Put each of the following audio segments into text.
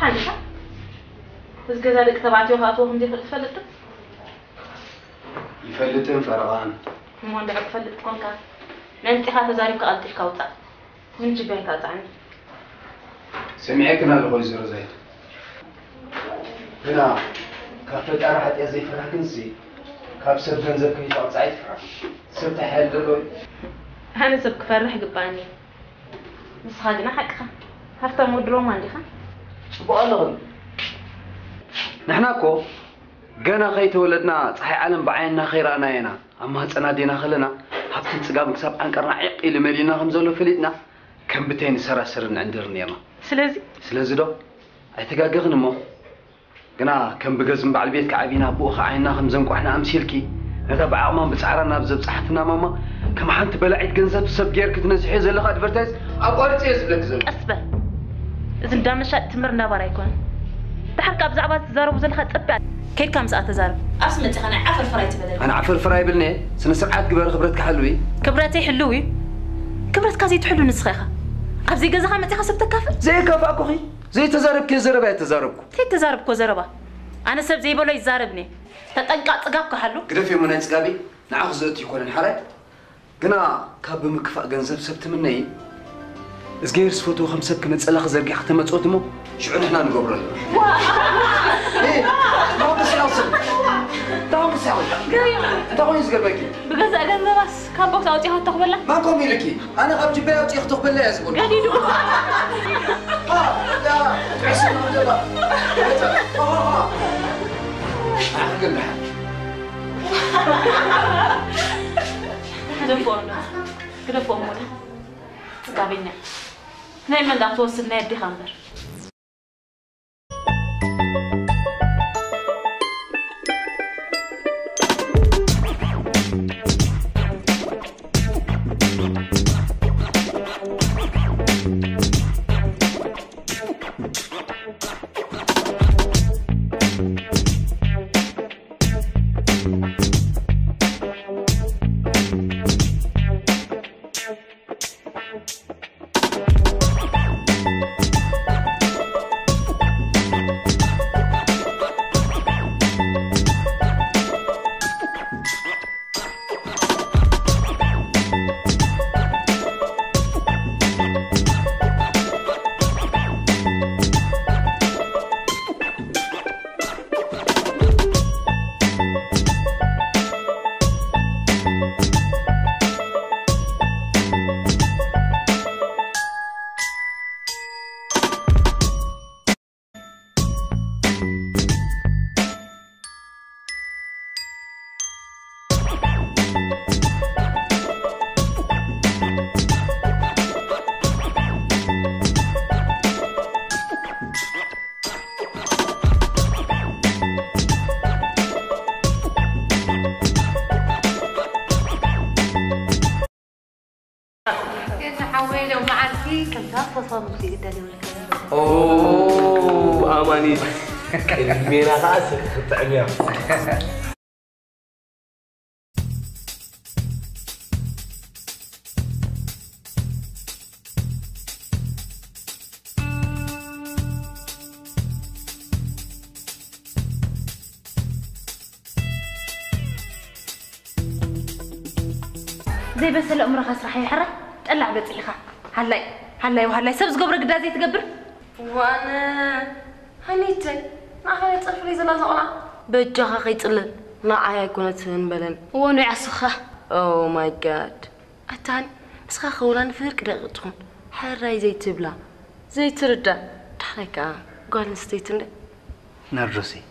ኣንታ፣ እዚ ገዛ ደቂ ተባዕትዮ ክኣትዎ ከም ዘይፈልጥ ትፈልጥ ዶ? ይፈልጥን ፈረቓን። እሞ እንድሕር ትፈልጥ ኮንካ፣ ምእንቲኻ ተዛሪብካ ቀልጢፍካ ውጻእ። ምን ጅባይ ታውጻዕኒ። ሰሚዐክን ኣለኹ ወይዘሮ ዛይድ። ግና ካብ ፈጣሪ ሓጢኣት ዘይፈራሕ ክንሲ ካብ ሰብ ገንዘብ ከይተቐጻ ኣይትፍራሕ። ሰብ ተሓየል ዘሎ እዩ። ኣነ ሰብ ክፈርሕ ይግባኣኒ። ንስኻ ግና ሓቅኻ ሃፍታም ወዲ ሮማ እንዲኻ። ጽቡቕ ኣለኽን። ንሕና እኮ ገና ከይተወለድና ፀሓይ ዓለም ብዓይንና ከይረኣና ኢና ኣብ ማህፀና ኣዴና ከለና ሃብትን ፅጋብን ክሳብ ዓንቀርና ዒቕ ኢሉ መሊኡና ከም ዘሎ ፈሊጥና ከም ብተይ ንሰራስርን ንዕንድርን ነርና። ስለዚ ስለዚ ዶ ኣይተጋገኽን እሞ ግና ከም ብገዝም በዓል ቤት ከዓቢና ብኡ ከዓይና ከም ዘንቋሕና ኣምሲልኪ ነታ ብዓቕማን ብፃዕራን ናብ ዘብፃሓትና ማማ ከም ሓንቲ በላዒት ገንዘብ ሰብ ጌርኪ ትነዝሕዮ ዘለኻ ኣድቨርታይዝ ኣቋርፂ እየ ዝብለኪ ዘሎ። ቀስ በል። እዚ እንዳመሻጥ ትምር እንዳባር ኣይኮነን። ድሓር ካብ ብዛዕባ ትዛረቡ ዘለኻ ጽብያ ከይድካ ምስኣ ተዛረብ። ኣብስ መጺኻ ናይ ዓፈር ፍራይ ትበለኒ። ኣነ ዓፈር ፍራይ ይብልኒ። ስነ ስርዓት ግበር ክብረት ክሓልዊ። ክብረተይ ሕልው እዩ። ክብረትካ ዘይትሕሉ ንስኻ ኢኻ። ኣብ ዘይገዛኻ መጺኻ ሰብ ተካፍል። ዘይካፋእኩኺ ዘይተዛረብክዮ ዘረባ እየ ተዛረብኩ። ዘይተዛረብኮ ዘረባ ኣነ ሰብ ዘይበሎ ይዛረብኒ። ተጠንቃ ጽጋብ ክሓሉ። ግደፍ እሞ ናይ ጽጋቢ ንዓኺ ዘእቱ ይኮነን ሓራይ። ግና ካብ ብምክፋእ ገንዘብ ሰብ ትምነዪ? እዝገብሄር ዝፈትዎ ከም ሰብ ክመጸላኺ ዘርጊሕኺ ተመጽኦት እሞ ሽዑ ንሕና ንገብሮ ኣለና። እ፣ ተኾንክስ ያው ሰብ። ተኾንክስ ያው። እንታይ ኮይኑ ዝገርመኪ? ብገዛእ ገንዘባስ ካብ ቦክስ ኣውጺኻ ተኽበላ? ማን ከምኡ ኢልኪ? ኣነ ካብ ጅበይ ኣውጺኤ ክተኽበላ እያ ዝብሎ። ገዲዱ። ሃ፣ ያ፣ ጥዕስና ደላ። ሃ፣ ሃ፣ ሃ። ኣኽግን ደሓን። ግደፎ እንዶ፣ ግደፎ እሞ ዳ። ጽጋበኛ። ናይ መን ዳ ትወስድ ናይ ኣዴኻ እምበር። ሓወይ ሎመዓልቲ ከምታ ፈሳሙስ ይግደል ይብልካ። ኣማኒት ቅድሜና ከዓ ስቅ ክትጥዕም እያ። ዘይበሰለ እምሮኻ ስራሕ ይሕራይ ጠላዕ በፂሕኻ። ሃላይ ሃላይ ሃላይ ሰብ ዝገብሮ ግዳ ዘይትገብር። ዋነ ሃኒተይ ንዓኻ ናይ ፀርፍለይ ዘላ ዘቕላ። በጃኻ ከይፅለል ንዓይ ኣይኮነትን በለን። እወ ኖይ ዓስኻ። Oh my God ኣታን ንስኻ ከውላ ንፍርቂ ደቂቕ ትኹን ሕራይ ዘይትብላ ዘይትርዳ ዳሕራይ ከዓ ጓል ኣንስተይቲ እንደ ናርዶሰይ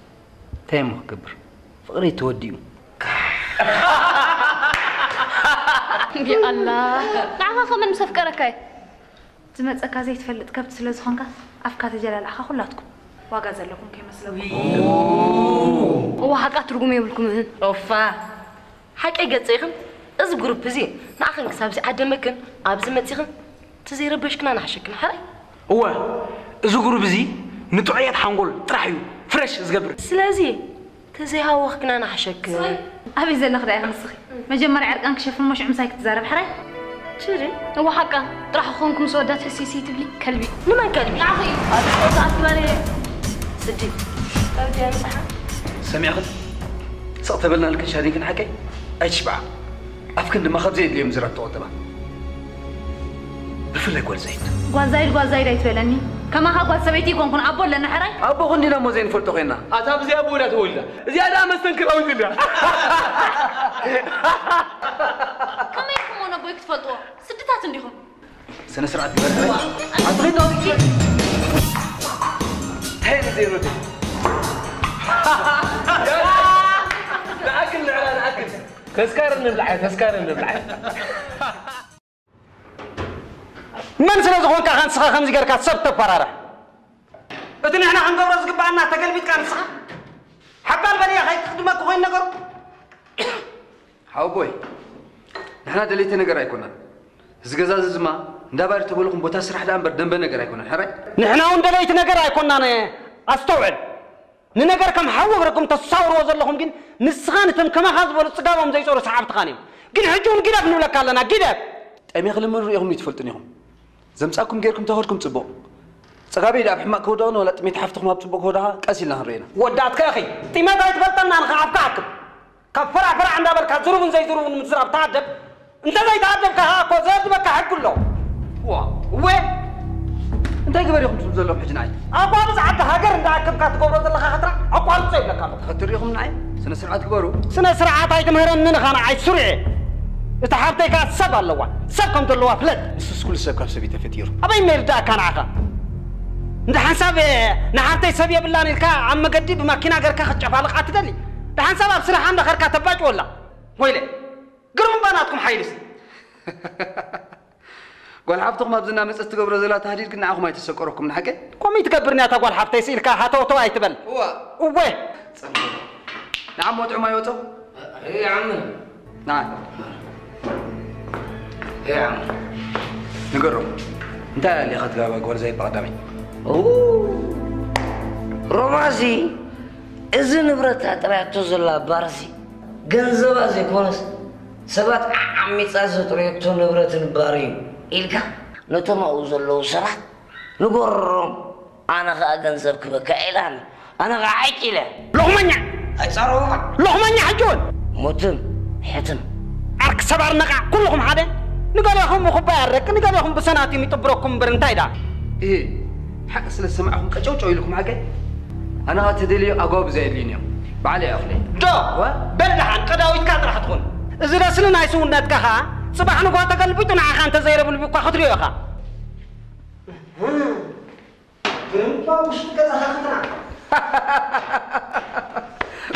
እንታይ እሞ ክገብር ፍቕረይ ተወዲኡ። ያኣላ ንዓኻ ከመን ምስ ኣፍቀረካ እዩ ዝመፀካ ዘይትፈልጥ ከብቲ ስለ ዝኾንካ ኣፍካ ተጀላልዕኻ ኩላትኩም ዋጋ ዘለኩም ከይመስለኩም። እዋ ሓቃ ትርጉም የብልኩምን። ኦፋ ሓቀይ ገጸይኽን እዚ ግሩፕ እዚ ንዓኽን ክሳብ ዝዓደመክን ኣብዚ መጺኽን ተዘይረበሽክና ንሓሸክን ሓራይ። እወ እዚ ግሩፕ እዚ ንጥዑያት ሓንጎል ጥራሕ እዩ ፍረሽ ዝገብር። ስለዚ ተዘይሃወኽክና ንሓሸክን። ኣበይ ዘለኽ ደኣ ኢኺ ንስኺ? መጀመርያ ዕርቃንኪ ሸፍኒ እሞ ሽዑ ምሳይ ክትዛረቢ ሕራይ። ችሪ። እወ ሓቃ ጥራሕ ክኾንኩ ምስ ወዳት ህስይስይ ትብሊ ከልቢ። ንመን ከልቢ? ንዓኺ እዩ። ኣብ ጾታ ኣትበለ። ስዲ ካብ ድያ ምሳሓ ሰሚዕኽን? ስቕ ተበልና ኢልክን ሻዲንክን ሓቀይ ኣይትሽብዓ። ኣፍክን ድማ ካብ ዘየድልዮም ዝራት ተቖጠባ። ብፍላይ ጓል ዛይድ። ጓል ዛይድ፣ ጓል ዛይድ ኣይትበለኒ። ከማኻ ጓል ሰበይቲ ይኮንኩን፣ ኣቦ ኣለና ሕራይ። ኣቦ ክንዲና እሞ ዘይንፈልጦ ኮይና። ኣታ ብዘይ ኣቦ ወዳ ተወልዳ። እዚኣ ደኣ መስተንክራዊት እንድያ። ከመይ ኢኹም ነቦይ ክትፈልጥዎ? ስድታት እንዲኹም። ስነ ስርዓት ግበር። ኣትሌት ኣውጥቼ። እንታይ ነው ዜሮ? ንኣክል ንዕላ ንኣክል። ተስካር እንብልዓይ፣ ተስካር እንብልዓይ። መን ስለ ዝኾንካ ኢኻ ንስኻ ከምዚ ጌርካ ሰብ ተፈራርሕ? እቲ ንሕና ክንገብሮ ዝግብኣና ተገልቢጥካ ንስኻ ሓባል በልያ ከይትኽድመኩ ኮይኑ ነገሩ። ሓውቦይ፣ ንሕና ደለይቲ ነገር ኣይኮናን። እዚ ገዛ እዚ ድማ እንዳ ባር ተበልኹም ቦታ ስራሕ ደኣ እምበር ደንበ ነገር ኣይኮነን። ሕራይ? ንሕና እውን ደለይቲ ነገር ኣይኮናን። ኣስተውዕል። ንነገር ከም ሓዊ ኣግረኩም ተሳውርዎ ዘለኹም ግን ንስኻን እቶም ከማኻ ዝበሉ ጽጋቦም ዘይጾሩ ሰዓብትኻን እዮም። ግን ሕጂ እውን ጊደፍ ንብለካ ኣለና፣ ጊደፍ! ጠሜ ክልምን ርኢኹም ይትፈልጡን ኢኹም። ዘምጻኩም ጌርኩም ተኸድኩም ጽቡቕ። ጸጋበይ ደኣ ኣብ ሕማቕ ክወደቕን ዋላ ጥሜት ሓፍትኹም ኣብ ጽቡቕ ክወደቓ ቀስ ኢልና ክንርኢ ኢና። ወዳእትካ ኢኺ። ጥሜት ኣይትፈልጠናን ኢኻ ኣብካ ኣክብ። ካብ ፈራዕ ፈራዕ እንዳበልካ ዝሩብን ዘይዝሩብን ምዝራብ ተኣደብ። እንተ ዘይተኣደብካ ኸኣ እኮ ዘእድበካ ሕጊ ኣሎ። ዋ፣ እወ። እንታይ ግበር ኢኹም ትብሉ ዘለኹም ሕጂ ንዓይ? ኣቋርጽ ዓዲ ሃገር እንዳኣከብካ ትገብሮ ዘለኻ ኸትራ ኣቋርጾ ይብለካ ኣለኹ። ተኸትር ኢኹም ንዓይ? ስነ ስርዓት ግበሩ። ስነ ስርዓት ኣይትምህረንን ኢኻ ንዓይ ሱርየ። እታ ሓብተይ ከኣ ሰብ ኣለዋ። ሰብ ከም ዘለዋ ፍለጥ። ንሱስ ኩሉ ሰብ ካብ ሰብ እዩ ተፈጢሩ። ኣበይ መይርዳእካ ንዓኻ? እንደ ሓንሳብ ንሓብተይ ሰብ የብላን ኢልካ ኣብ መገዲ ብማኪና ገርካ ክትጨፋልቓ ትደሊ። ደሓንሳብ ኣብ ስራሓ እንዳኸድካ ተባጭወላ። ወይለ፣ ግርም እባ ናትኩም ሓይልሲ። ጓል ሓፍትኹም ኣብዚ እናመጸት ትገብሮ ዘላ ታህዲድ ግን ንዓኹም ኣይተሰቀረኩም ንሓቀይ? ከምኡ ትገብርኒ እታ ጓል ሓፍተይ ስኢልካ ሃተውተው ኣይትበል። እዋ። እወ። ጸንሑ። ንዓሞ ጥዑም ኣይወጾ? እይ ዓምን። ንዓ። እይ ዓምን። ንገሮም። እንታይ ኣሊኻ ትጋባ ጓል ዘይባ ቀዳመይ? ኡ፣ ሮማሲ፣ እዚ ንብረታ ጥራያቶ ዘላ ባርሲ ገንዘባ ዘይኮነስ ሰባት ዓሚጻ ዘጥረየቶ ንብረትን ባር እዩ ኢልካ ነቶም ኣብኡ ዘለዉ ሰባት ንገሮም። ኣነ ኸኣ ገንዘብ ክበካ ኢላን ኣነ ኸኣ ዓጭ ኢለ። ሎኽመኛ! ኣይጸረቡኻ። ሎኽመኛ ሕጂ እውን! ሙትም፣ ሕትም። ዓርኪ ሰባር ነቓዕ፣ ኩልኹም ሓደ። ንገሌኹም ብኹባይ ኣረቂ፣ ንገሌኹም ብሰናቲም ይጥብረኩም እምበር እንታይ ደኣ? እህ፣ ሓቂ ስለ ዝሰማዕኹም ቀጨውጨው ኢልኩም ሓቀይ? ኣነ ኸኣ ተደልዮ ኣጓብዛ የድልዩኒ እዮም። ባዕለይ እየ ኣኽለይ። ዶ? ወ? በል ደሓን፣ ቀዳዊትካ ጥራሕ ትኹን። እዚ ረስኒ ናይ ስውነትካ ኸኣ፣ ጽባሕ ንግሆ ተገልቢጡ ንዓኻ እንተ ዘይረብልቢ እኳ ክትሪኦ ኢኻ። ግርምባ ውሽጢ ገዛኻ ክትራ።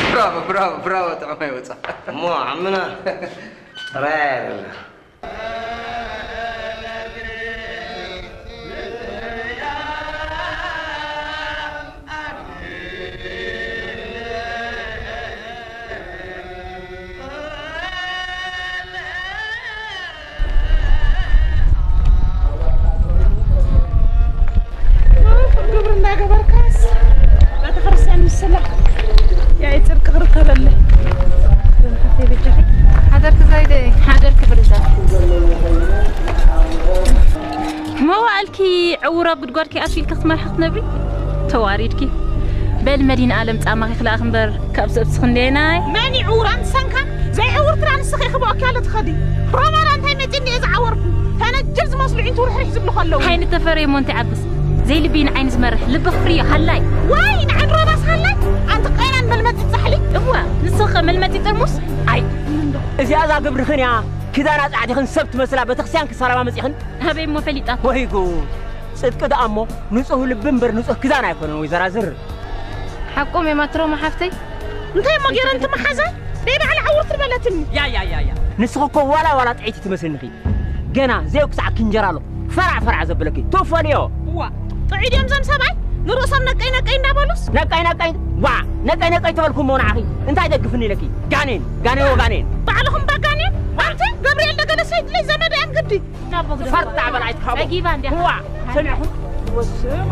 ብራቮ፣ ብራቮ፣ ብራቮ፣ ጥዑም ኣይወጻ። እሞ ዓምና ጥራይ ኣይደለ። ግብር እንዳገበርካስ ቤተክርስትያን ምስላ ያይ ጽድቂ ክርከበለ። ሓደርክ ዛይደ፣ ሓደርክ ብርዛ። መዋእልኪ ዕውር ኣብ ጉድጓድኪ ኣትዩ ኢልኪ ክትመርሒ ክትነብሪ? ተዋሪድኪ። በል መዲና ኣለም ጻማኺ ክልኣኽ እምበር ካብ ሰብስኽ እንዴናይ። መን ይዕውር ኣንሰንካ? ዘይዕውር ትራ ንስኺ ክበኣኪ ኣሎ ትኸዲ። ሮማና እንታይ መጺኒ እየ ዝዓወርኩ? ፈነጅር ዝመስሉ ዒንቱ ርሕሪሕ ዝብሉ ከለዉ። ዓይኒ ተፈረየ ሞንቲ ዓብስ። ዘይልቢ ንዓይኒ ዝመርሕ ልቢ ክፍርዮ ሃላይ። ዋይ ንዓን ሮማስ ሃላይ? ኣንቲ ቀይናን መልመጺ ጻሕሊ። እዋ ንስኺ ከ መልመጺ ጥርሙስ? ኣይ እዚኣ እዛ ግብርኽን እያ። ኪዳና ጻዕዲኽን ሰብ ትመስላ ቤተክርስትያን ክሰላማ መጺኽን? ኣበይ እሞ ፈሊጣ? ወይ ጉድ! ጽድቂ ደኣ እሞ ንጹህ ልቢ እምበር ንጹህ ክዳን ኣይኮነን ወይዘራ ዝር። ሓቆም እዮም ኣትሮም ሓፍተይ። እንታይ እሞ ገይረን ትመሓዛ? ደይ ባዕላ ዕውርቲ በለትኒ። ያ ያ ያ ያ። ንስኺ እኮ ዋላ ዋላ ጥዕይቲ ትመስልንኺ። ገና ዘይኩሳዕ ክንጀራ ኣሎ። ፈራዕ ፈራዕ ዘብለኪ። ትፈልዮ። እዋ፣ ጥዑይ ድዮም እዞም ሰብኣይ? ንርእሶም ነቀይ ነቀይ እንዳበሉስ? ነቀይ ነቀይ፣ ዋ፣ ነቀይ ነቀይ ተበልኩ እሞ ንዓኺ እንታይ ደግፍኒ ኢለኪ? ጋኔን፣ ጋኔን ወጋኔን። ባዕልኹም ባጋኔን? ኣንቲ ገብርኤል ደገለ ሰይድለይ ዘመድ እያን ግዲ። ፈርጣ በል ኣይትካቦ። ጸጊባ እንዲያ። ዋ፣ ሰሚዕኹም? ወስማ።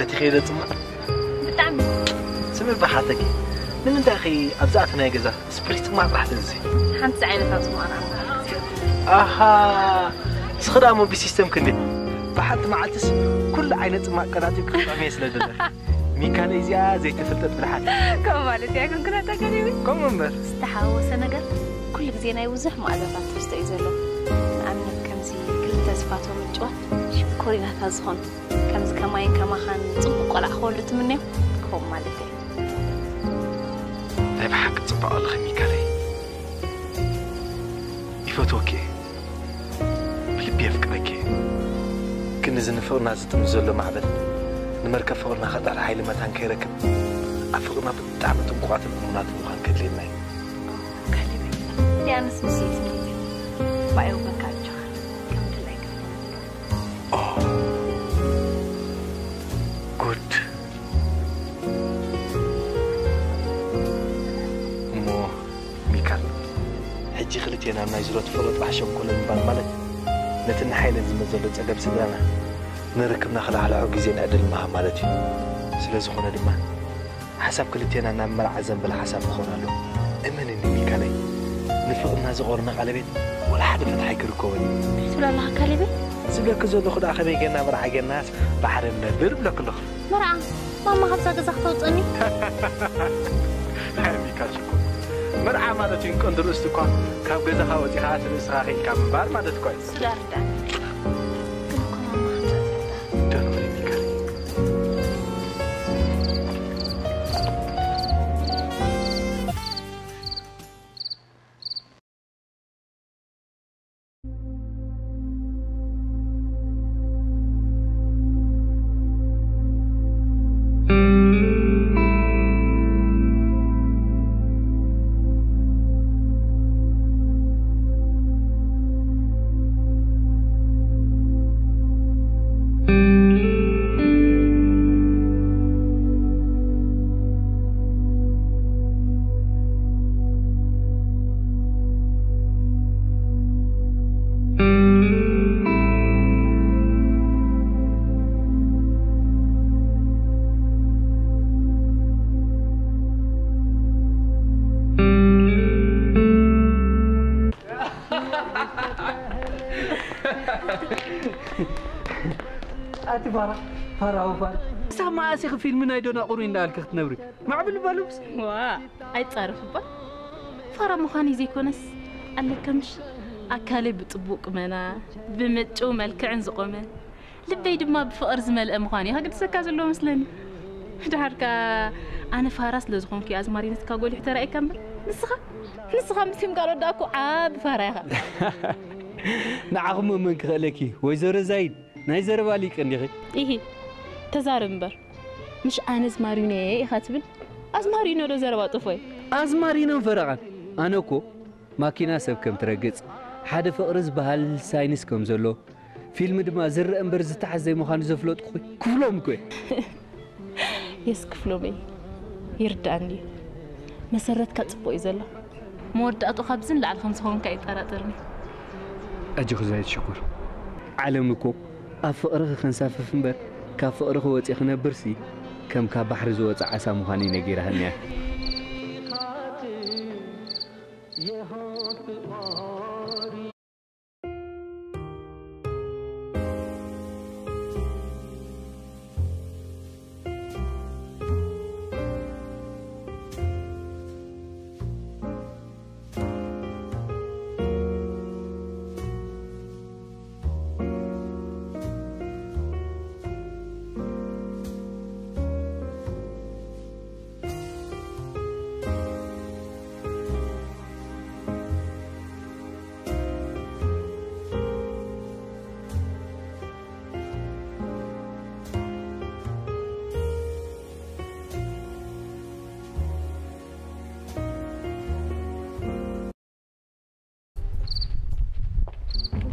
እቲ ኸይደ ጽማቕ ብጣዕሚ ስሚ ብሓተኪ ንምንታይ ኸ ኣብዛኣት ናይ ገዛ ስፕሪት ጽማቕ ጥራሕ ተዚ ሓንቲ ዓይነት ኣብ ጽማቕ ኣሃ ንስኺ ደኣ ሞ ብሲስተም ክንዲ ብሓንቲ መዓልትስ ኩሉ ዓይነት ጽማቕ ቀናጢ ክጥዕም እየ ስለ ደለኺ ሚካለ እዚኣ ዘይተፈልጠት ብልሓት ከም ማለት እያ ግን ኩነታ ከሪቢ ከምኡ እምበር ዝተሓወሰ ነገር ኩሉ ግዜ ናይ ብዙሕ መኣዛታት ትሕዝቶ እዩ ዘሎ ንኣብነት ከምዚ ክልተ ዝፋቶ ምጭዋት ሽኮሪናታት ዝኾኑ ከምዚ ከማይን ከማኻን ጽቡቅ ቆልዓ ክወልዱ ትምነዮም ክኸውን ማለት እዩ ናይ ብሓቂ ጽባቐ ኣለኺ ሚካለይ ይፈትወኪ እየ ብልቢ የፍቅረኪ እየ ግን እዚ ንፍቕርና ዝጥምዝ ዘሎ ማዕበል ንመርከብ ፍቕርና ከጥሕል ሓይሊ መታን ከይረክብ ኣብ ፍቕርና ብጣዕሚ ጥንቁቓትን እሙናትን ምዃን ከድልየና እዩ ካሌበይ እንዲያንስ ምስይት ባየው በቃ ኣጆኻ ከም ድላይ ጉድ እሞ ሚካል ሕጂ ክልቴና ኣብ ናይ ዝሮት ፍቕሪ ጥራሕ ሸንኮሎ ምባል ማለት ነቲ ንሓይለን ዝመዘሎ ጸገም ስድራና ንርክብና ክላሕልሖ ግዜ ንዕድል ምሃብ ማለት እዩ ስለ ዝኾነ ድማ ሓሳብ ክልቴና ናብ መርዓ ዘንበለ ሓሳብ ክኾን ኣሎ እመንኒ ሚካለይ ንፍቕርና ዝቖርነ ቀለቤት ወላ ሓደ ፈትሓይ ክርከቦን እዩ ትብላ ኣለኻ ካሌበይ ዝብለኪ ዘለኹ ደኣ ከመይ ጌርና መርዓ ጌርናስ ብሓደ ንነብር ብለኪ ኣለኹ መርዓ ማማ ካብዛ ገዛ ክተውፅእኒ ሃይ ሚካል ሽኮር መርዓ ማለት እዩ ቀንዲ ርእስቲ እኳ ካብ ገዛኻ ወፂኻ እቲ ርእስኻ ኽኢልካ ምንባር ማለት እኳ እዩ ስለ ኣርዳእኒ ግን እኮ ማማ ከምዛ ትብላ ደኖ ሚካል ኣቲ ፋራ ፋራ ወፋር ሳብ መኣስ ኢኺ ፊልሚ ናይ ዶናቑሪ እንዳበልኪ ክትነብሪ ማዕብል በሉስ ዋ ኣይጻረፍ እባ ፋራ ምዃን እዩ ዘይኮነስ ኣለካ ምሽ ኣካለይ ብጥቡቅ ቁመና ብምጭው መልክዕን ዝቆመ ልበይ ድማ ብፍቕር ዝመልአ ምዃን እዩ ከግድሰካ ዘለዎ መስለኒ ድሓርካ ኣነ ፋራ ስለ ዝኾንኩ ኣዝማሪነትካ ጎሊሑ ተራእየካ እምበር ንስኻ ንስኻ ምስ ፊልም ካልኦት ደኣ እኮ ዓቢ ፋራ ኢኻ ንዓኹም መን ክኽእለኪ ወይዘሮ ዛይድ ናይ ዘረባ ሊቅ እንዲኺ ኢሂ ተዛረብ እምበር ምሽ ኣነ ኣዝማሪኖ እየ ኢኻ ትብል ኣዝማሪኖ ዶ ዘረባ ጥፎ እዩ ኣዝማሪኖን ፈረቓን ኣነ እኮ ማኪና ሰብ ከም ትረግጽ ሓደ ፍቕሪ ዝበሃል ሳይንስ ከም ዘሎ ፊልም ድማ ዝረአ እምበር ዝተሓዝ ዘይምዃኑ ዘፍለጥኩ ክፍሎም እኮ እየ የስ ክፍሎመይ ይርዳእኒ እዩ መሰረትካ ጽቡቕ እዩ ዘሎ መወዳእቱ ካብዚ ንላዕሊ ከም ዝኸውን ከይጠራጠርኒ ኣጆኺ ዛይድ ሽኩር ዓለም እኮ ኣብ ፍቕርኺ ክንሳፍፍ እምበር ካብ ፍቕርኺ ወፂ ክነብርሲ ከም ካብ ባሕሪ ዝወፀ ዓሳ ምዃኑ እዩ ነጊራሃኒ እያ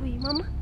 ውይ ማማ